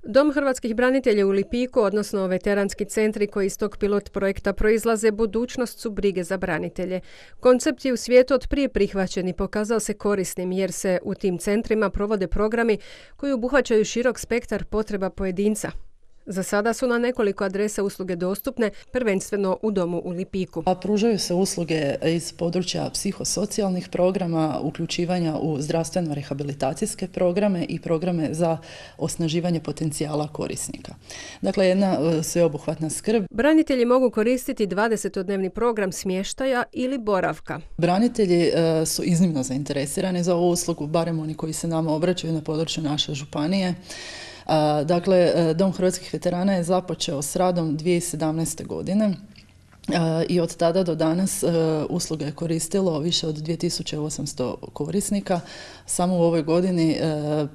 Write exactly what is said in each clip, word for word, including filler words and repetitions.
Dom hrvatskih branitelja u Lipiku, odnosno veteranski centri koji iz tog pilot projekta proizlaze, budućnost su brige za branitelje. Koncept je u svijetu od prije prihvaćen i pokazao se korisnim jer se u tim centrima provode programi koji obuhvaćaju širok spektar potreba pojedinca. Za sada su na nekoliko adresa usluge dostupne, prvenstveno u domu u Lipiku. A pružaju se usluge iz područja psihosocijalnih programa, uključivanja u zdravstveno-rehabilitacijske programe i programe za osnaživanje potencijala korisnika. Dakle, jedna sveobuhvatna skrb. Branitelji mogu koristiti dvadesetodnevni program smještaja ili boravka. Branitelji su iznimno zainteresirani za ovu uslugu, barem oni koji se nama obraćaju na području naše županije. Dakle, Dom hrvatskih veterana je započeo s radom dvije tisuće sedamnaeste. godine i od tada do danas usluge je koristilo više od dvije tisuće osamsto korisnika. Samo u ovoj godini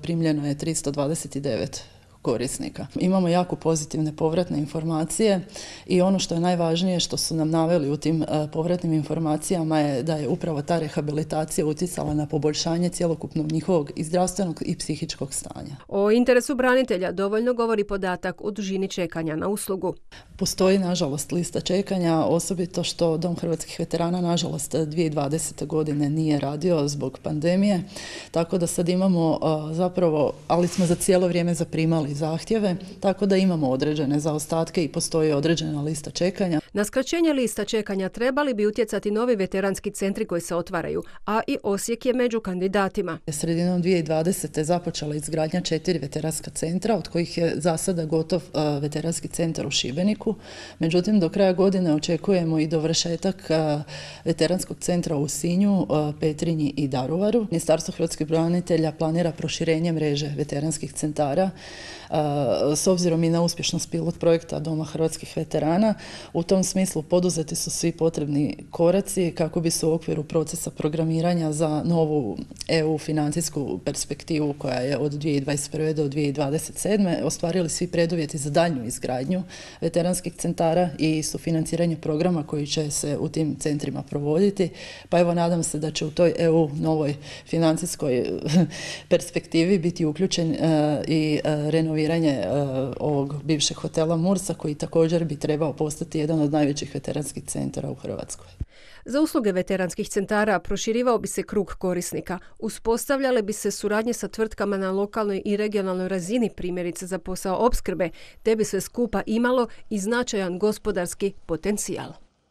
primljeno je tristo dvadeset devet korisnika. Imamo jako pozitivne povratne informacije i ono što je najvažnije što su nam naveli u tim povratnim informacijama je da je upravo ta rehabilitacija utjecala na poboljšanje cjelokupnog njihovog i zdravstvenog i psihičkog stanja. O interesu branitelja dovoljno govori podatak o dužini čekanja na uslugu. Postoji, nažalost, lista čekanja, osobito što Dom hrvatskih veterana, nažalost, dvije tisuće dvadesete. godine nije radio zbog pandemije, tako da sad imamo zapravo, ali smo za cijelo vrijeme zaprimali zahtjeve, tako da imamo određene zaostatke i postoji određena lista čekanja. Na skraćenje lista čekanja trebali bi utjecati novi veteranski centri koji se otvaraju, a i Osijek je među kandidatima. Sredinom dvije tisuće dvadesete. započela izgradnja četiri veteranska centra, od kojih je za sada gotov veteranski centar u Šibeniku. Međutim, do kraja godine očekujemo i dovršetak veteranskog centra u Sinju, Petrinji i Daruvaru. Ministarstvo hrvatskih branitelja planira proširenje mreže veteranskih centara s obzirom i na uspješnost pilot projekta Doma hrvatskih veterana. U tom smislu poduzeti su svi potrebni koraci kako bi se u okviru procesa programiranja za novu E U financijsku perspektivu koja je od dvije tisuće dvadeset prve. do dvije tisuće dvadeset sedme. ostvarili svi preduvjeti za daljnju izgradnju veteranskih centara i sufinanciranje programa koji će se u tim centrima provoditi. Pa evo, nadam se da će u toj E U novoj financijskoj perspektivi biti uključen i renoviranje ovog bivšeg hotela Mursa, koji također bi trebao postati jedan od najvećih veteranskih centara u Hrvatskoj. Za usluge veteranskih centara proširivao bi se krug korisnika, uspostavljale bi se suradnje sa tvrtkama na lokalnoj i regionalnoj razini, primjerice za posao opskrbe, te bi sve skupa imalo i značajan gospodarski potencijal.